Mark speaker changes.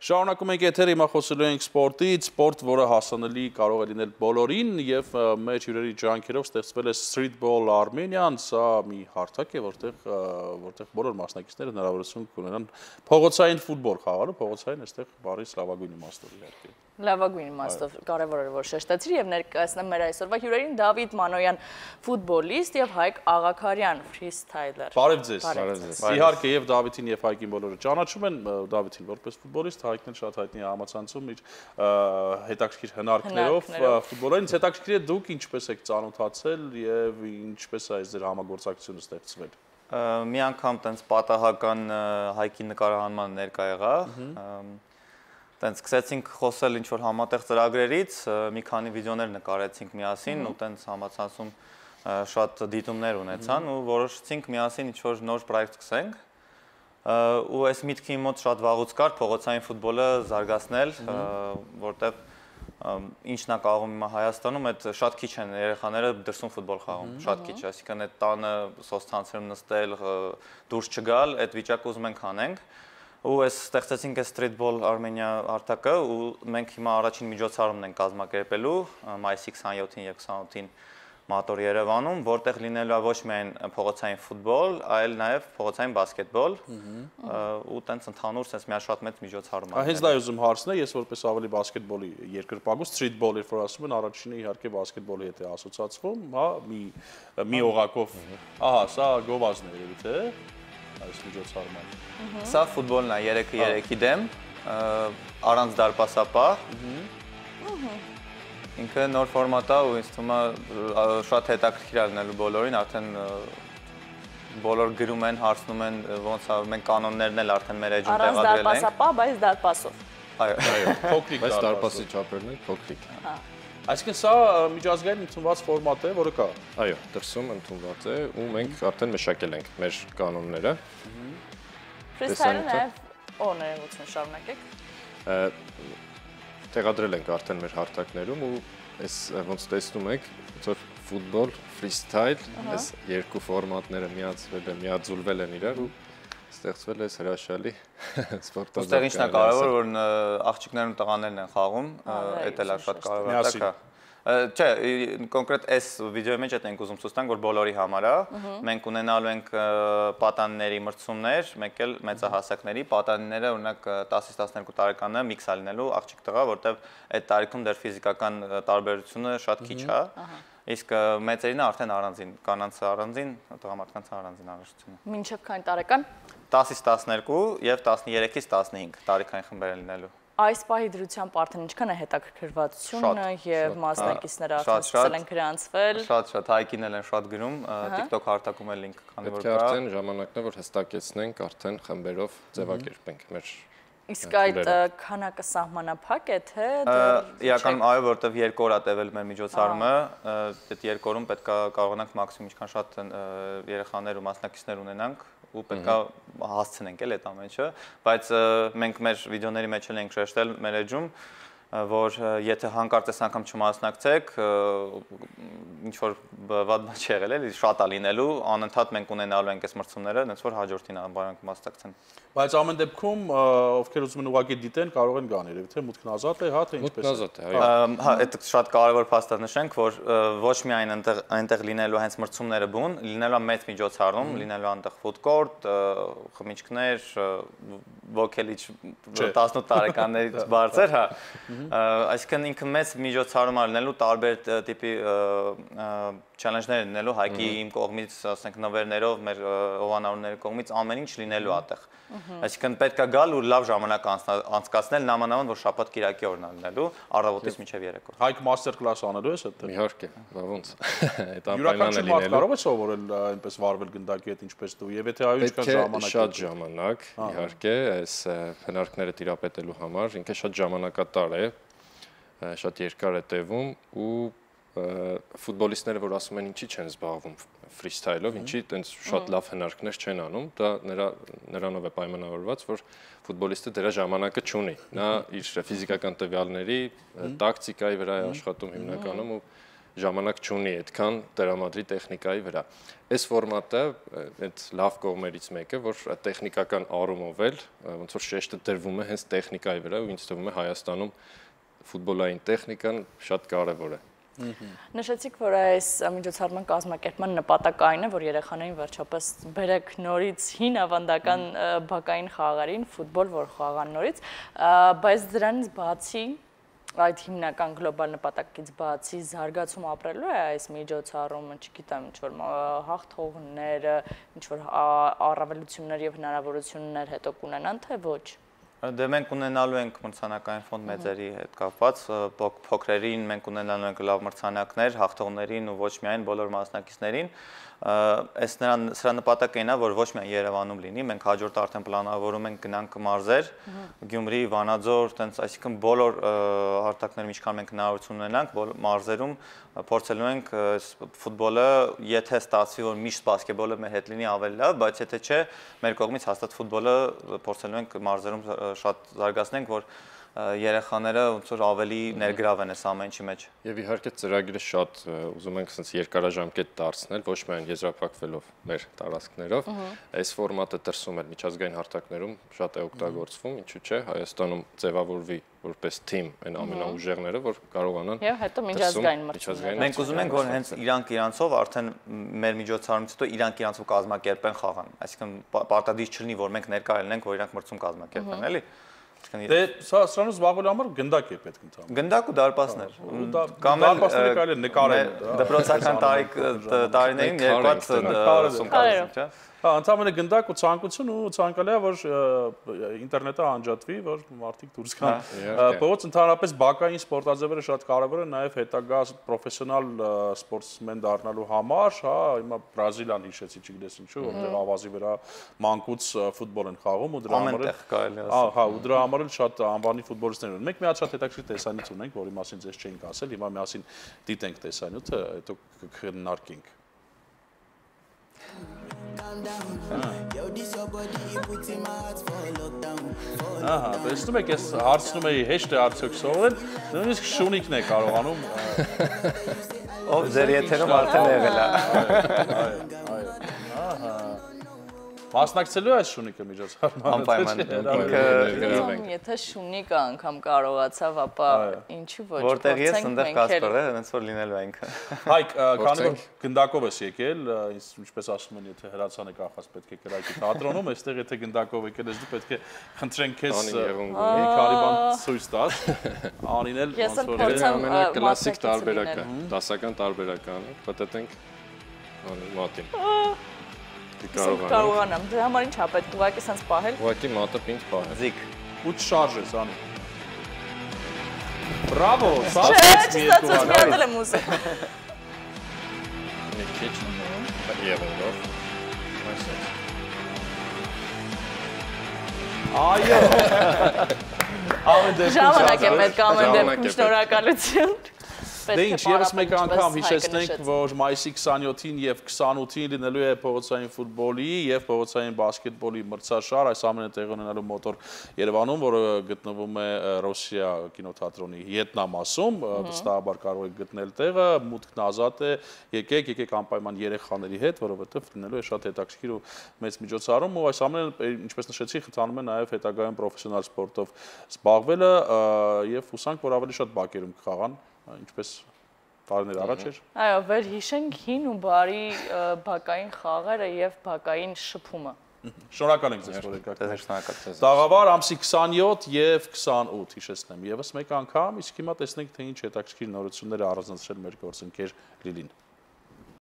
Speaker 1: Շարունակում ենք եթերը, հիմա խոսելու ենք սպորտից, սպորտ, որը հասանելի կարող է լինել բոլորին եւ մեր հյուրերի ջանքերով ստեղծվել է Streetball Armenian, սա մի հարթակ է, որտեղ բոլոր մասնակիցները հնարավորություն կունենան փողոցային ֆուտբոլ խաղալու, փողոցային այստեղ բառից լավագույն իմաստով իհարկե։
Speaker 2: Լավագույն իմաստով կարևոր է որ շեշտեցրի եւ ներկայացնեմ մեր այսօրվա հյուրերին Դավիթ Մանոյան ֆուտբոլիստ եւ Հայկ Աղաքարյան ֆրիստայլեր։
Speaker 1: Բարև ձեզ։ Իհարկե եւ Դավիթին եւ Հայկին բոլորը ճանաչում են Դավիթին որպես ֆուտբոլիստ, Հայկն էլ շատ հայտնի է համացանցում իր հետաքրքիր հնարքներով ֆուտբոլային, հետաքրքիր է դուք ինչպես եք ծանոթացել եւ ինչպես է այս ձեր համագործակցությունը ստեղծվել։
Speaker 3: Մի անգամ տենց պատահական Հայկի նկարահանման ներկա եղա։ Տենց սկսեցինք խոսել ինչ-որ համատեղ ծրագրերից, մի քանի վիդեոներ նկարեցինք միասին ու տենց համացանցում շատ դիտումներ ունեցան ու որոշեցինք միասին ինչ-որ նոր պրոյեկտ սկսենք ու այս միտքի մոտ շատ վաղուց կար փողոցային ֆուտբոլը զարգացնել, որտեղ ինչն է կարողում հիմա Հայաստանում, այդ շատ քիչ են երեխաները դրսում ֆուտբոլ խաղում, շատ քիչ, այսինքն այդ տանը սոցցանցերում նստել, դուրս չգալ, այդ վիճակը ուզում ենք անենք։ Ու այս ստեղծեցինք այս Streetball Armenia հարթակը ու մենք հիմա առաջին միջոցառումն ենք կազմակերպելու մայիսի 27-ին եւ 28-ին Մատոր Երևանում, որտեղ լինելու է ոչ միայն փողոցային ֆուտբոլ, այլ նաեւ փողոցային բասկետբոլ ու տենց ընդհանուր sense մի շատ մեծ միջոցառում է։
Speaker 1: Հենց դա ուզում հարցնել, ես որպես ավելի բասկետբոլի երկրպագու Streetball երբ որ ասում են, առաջինը իհարկե բասկետբոլի հետ է ասոցացվում, հա, մի օղակով, ահա, սա գովազն է երևի թե այս միջոցառումը։
Speaker 3: Սա ֆուտբոլն է 3-3-ի դեմ, առանց դարպասապահ։ Ինքը նոր ֆորմատ է ու ինձ թվում է շատ հետաքրքիր է լինելու բոլորին, արդեն բոլոր գրում են, հարցնում են ոնց է, մենք կանոններն էլ արդեն մեր էջում տեղադրել ենք։
Speaker 2: Առանց դարպասապահ, բայց դարպասով։
Speaker 3: Այո,
Speaker 1: փոքրիկ
Speaker 4: բայց դարպասի չափերն են փոքրիկ։
Speaker 1: Այսինքն սա միջազգային ընդունված ֆորմատ է, որը կա։
Speaker 4: Այո, դրսում ընդունված է ու մենք արդեն մշակել ենք մեր կանոնները։
Speaker 2: Ֆրիստայլը նաև օրներևություն շարունակեք։
Speaker 4: Տեղադրել ենք արդեն մեր հարթակներում ու այս ոնց տեսնում եք, ոնց որ ֆուտբոլ, ֆրիստայլ, այս երկու ֆորմատները միաձուլվել են իրար ու ստեղծվել է հրաշալի սպորտազարկ։
Speaker 3: Ոստեղ ինչն է կարևոր, որ աղջիկներն ու տղաներն են խաղում, դա էլ է շատ կարևոր է։ Չէ, կոնկրետ այս վիդեոյի մեջ ենք ուզում ցույց տանք, որ բոլորի համար է։ Մենք ունենալու ենք պատանիների մրցումներ, մեկ էլ մեծահասակների, պատանիները օրինակ 10-ից 12 տարեկանները միքս է լինելու աղջիկ-տղա, որտեղ այդ տարիքում դեռ ֆիզիկական տարբերությունը շատ քիչ է։ Իսկ մեծերինը արդեն առանձին, կանանց առանձին, տղամարդկանց առանձին առողջությունը։
Speaker 2: Մինչև քանի տարեկան։
Speaker 3: 10-ից 12 եւ 13-ից 15 տարիքային խմբեր են լինելու։
Speaker 2: Այս պահի դրությամբ արդեն ինչքան է հետաքրքրվածությունը եւ մասնակիցները արդեն սկսել են գրանցվել։
Speaker 3: Շատ, Հայկին էլ են շատ գրում, TikTok հարթակում էլ link քանի որ կա։
Speaker 4: Պետք է արդեն ժամանակն է, որ հստակեցնենք, արդեն խմբերով ձևակերպենք մեր։
Speaker 2: Իսկ այդ քանակը սահմանափակ է, թե
Speaker 3: իրականում այո, որտեվ 2 օր է տևել մեր միջոցառումը, այդ 2 օրում պետք է կարողանանք մաքսիմում ինչքան շատ երեխաներ ու մասնակիցներ ունենանք ու պետք է հասցնենք էլ այդ ամենը, բայց մենք մեր վիդեոների մեջ էլ ենք շեշտել մեր էջում, որ եթե հանկարծ այս անգամ չմասնակցեք, ինչ որ վատ բան չի եղել, էլի շատ է լինելու, անընդհատ մենք ունենալու ենք այս մրցումները, այնց որ հաջորդին անբարոյք մասնակցեն։
Speaker 1: Բայց ամեն դեպքում ովքեր ուզում են ուղղակի դիտեն, կարող են գան երևի թե մուտքն ազատ է, հա թե ինչպես է։
Speaker 4: Մուտքն ազատ է, այո։
Speaker 3: Հա, այդ շատ կարևոր փաստ է նշենք, որ ոչ միայն այնտեղ լինելու հենց մրցումները բուն, լինելու է մեծ միջոցառում, լինելու է այնտեղ food court, խմիչքներ, ոգելիչ 18 տարեկաններից բարձր, հա։ Այսինքն ինքը մեծ միջոցառում է լինելու տարբեր տիպի challenge-ներ լինելու, Հայկի իմ կողմից, ասենք նվերներով, մեր հովանավորների կողմից ամեն ինչ լինելու այդտեղ։ Այսինքն պետք է գալ ու լավ ժամանակ անցկացնել, նամանավան որ շաբաթ կիրակի օրն է լինելու, առավոտից մինչև երեկո։
Speaker 1: Հայկ մաստեր կլաս անելու ես այդտեղ։
Speaker 4: Իհարկե, բա ոնց։ Այդ
Speaker 1: անպայման է լինելու։ Կարող է սովորել այնպես վարվել գնդակի հետ ինչպես դու, եւ եթե այո ինչքան ժամանակ։
Speaker 4: Շատ ժամանակ, իհարկե, այս հնարքները տիրապետելու համար, ինքը շատ ժամանակատար է, շատ երկար է տևում ու ֆուտբոլիստները, որ ասում են ինչի չեն զբաղվում ֆրիստայլով, ինչի տենց շատ լավ հնարքներ չեն անում, դա նրանով է պայմանավորված, որ ֆուտբոլիստը դրա ժամանակը չունի։ Նա իր ֆիզիկական տվյալների, տակտիկայի վրա է աշխատում հիմնականում ու ժամանակ չունի այդքան տրամադրի տեխնիկայի վրա։ Այս ֆորմատը այդ լավ կողմերից մեկը, որ տեխնիկական առումով էլ ոնց որ շեշտը դրվում է հենց տեխնիկայի վրա, ու ինձ թվում է Հայաստանում ֆուտբոլային տեխնիկան շատ կարևոր է։
Speaker 2: Նշեցիք, որ այս միջոցառման կազմակերպման նպատակային է, որ երեխաներին վերջապես բերեք նորից հին ավանդական բակային խաղերին, ֆուտբոլ, որ խաղան նորից, բայց դրանից բացի այդ հիմնական գլոբալ նպատակից բացի զարգացում ապրելու է այս միջոցառումը, չգիտեմ, ինչ-որ հաղթողներ, ինչ-որ առավելություններ և հնարավորություններ հետո կունենան, թե ոչ։
Speaker 3: Դե մենք ունենալու ենք մրցանակային ֆոնդ մեծերի հետ կապված, փոքրերին մենք ունենալու ենք լավ մրցանակներ, հաղթողներին ու ոչ միայն բոլոր մասնակիցներին։ Սրա նպատակն է, որ ոչ միայն Երևանում լինի, մենք հաջորդ արդեն պլանավորում ենք գնանք մարզեր, Գյումրի, Վանաձոր, տենց, այսինքն բոլոր հարթակներում ինչքան մենք հնարավորություն ունենանք, մարզերում փորձելու ենք ֆուտբոլը, եթե ստացվի, որ միշտ բասկետբոլը մեր հետ լինի ավելի լավ, բայց եթե չէ, մեր կողմից հաստատ ֆուտբոլը փորձելու ենք մարզերում շատ զարգացնենք, որ երեխաները ոնց որ ավելի ներգրավեն այս ամեն ինչի մեջ։
Speaker 4: Եվ իհարկե ծրագիրը շատ ուզում ենք ասենց երկարաժամկետ դարձնել, ոչ միայն եզրափակվելով մեր տարածքներով, այս ֆորմատը դրսում էլ միջազգային հարթակներում շատ է օգտագործվում, ինչու՞ չէ, Հայաստանում ձևավորվի որպես թիմ այն ամենաուժեղները, որ կարողանան
Speaker 2: Եվ հետո միջազգային մրցույթ։
Speaker 3: Մենք ուզում ենք, որ հենց իրանք իրանցով արդեն մեր միջոցառումից հետո իրանք իրանցով կազմակերպեն խաղան, այսինքն պարտադիր չլինի, որ մենք ներկա լինենք, որ իրանք մրցում կազմակերպեն, էլի։
Speaker 1: Դե սրանով զբաղվելու համար գնդակ է պետք ընդհանրապես։
Speaker 3: Գնդակ ու դարպասներ։
Speaker 1: Կամ դարպասները կարելի է նկարել։
Speaker 3: Դպրոցական տարիներին երկված սումքարում, չէ՞։
Speaker 1: Ընդհանրապես գնդակ ու ցանկություն ու ցանկալի է, որ ինտերնետը անջատվի, որ մարդիկ դուրս գան։ Փողոց ընդհանրապես բակային սպորտաձևերը շատ կարևոր են նաև հետագա պրոֆեսիոնալ սպորտսմեն դառնալու համար, հա, հիմա Բրազիլիան հիշեցի, չգիտես ինչու, որտեղ ավազի վրա մանկուց ֆուտբոլ են խաղում ու դրա համար էլ կարելի է։ Հա, ու դրա համար էլ շատ անվանի ֆուտբոլիստներ ունեն։ Մենք մի հատ շատ հետաքրքիր տեսանյութ ունենք, որի մասին ձեզ չէինք ասել, հիմա միասին դիտենք տեսանյութը, հետո կքննարկենք։ Ահա, տեսնում եք, ես հարցնում էի հեշտ է արդյոք սովորել, նույնիսկ շունիկն է կարողանում։
Speaker 3: Ով ձեր եթերում արդեն եղել է։
Speaker 1: Ահա։ Մասնակցելու է այս շունիկը միջոցառմանը։
Speaker 3: Անպայման։
Speaker 2: Եթե շունիկը անգամ կարողացավ, ապա ինչու ոչ։
Speaker 3: Որտեղ ես ընդեղ Կասպեր է, հենց որ լինելու ենք։
Speaker 1: Հայկ, քանի որ գնդակով ես եկել, ինչպես ասում են, եթե հրացան է կախած, պետք է կրակի թատրոնում, այստեղ եթե գնդակով եկել ես դու պետք է խնդրենք քեզ մի քանի բան ցույց տաս։ Անին էլ
Speaker 2: ոնց որ
Speaker 4: կլասիկ տարբերական, դասական տարբերական, պատտենք մատին։
Speaker 2: Կարողանամ, դրա համար ինչ ա պետք ուղղակի սենց պահել։
Speaker 4: Ուղղակի մատը պինդ պահել։
Speaker 3: Զիկ։
Speaker 1: Ու շարժ ես անի։ Բրավո, սա
Speaker 2: ստացեց մի հատ եմ ուզում։
Speaker 4: Մի քիչ եղելով։
Speaker 1: Այո։
Speaker 2: Ժամանակ է պետք ամեն դեպքում շնորհակալություն։
Speaker 1: Դե ինչ, եւս մեկ անգամ հիշեցնենք, որ մայիսի 27-ին եւ 28-ին լինելու է փողոցային ֆուտբոլի եւ փողոցային բասկետբոլի մրցաշար, այս ամենը տեղի ունենալու մոտոր Երևանում, որը գտնվում է Ռոսիա կինոթատրոնի ետնամասում, վստահաբար կարող եք գտնել տեղը, մուտքն ազատ է, եկեք անպայման երեխաների հետ, որովհետեւ լինելու է շատ հետաքրքիր ու մեծ միջոցառում, ու այս ամենը, ինչպես նշեցի, խթանում է նաեւ հետագայում պրոֆեսիոնալ սպորտով զբաղվելը եւ հուսանք, որ ավելի շատ բակերում կխաղան, ինչպես տարիներ առաջ էր։
Speaker 2: Այո, վեր հիշենք հին ու բարի բակային խաղերը եւ բակային շփումը։
Speaker 1: Շնորհակալ ենք ձեզ, որ եկաք։
Speaker 3: Շնորհակալ։
Speaker 1: Տաղավար ամսի 27 եւ 28 հիշեցնեմ։ Եվս մեկ անգամ, իսկ հիմա տեսնենք թե ինչ հետաքրքիր նորություններ է առանձնացրել մեր գործընկեր Լիլին։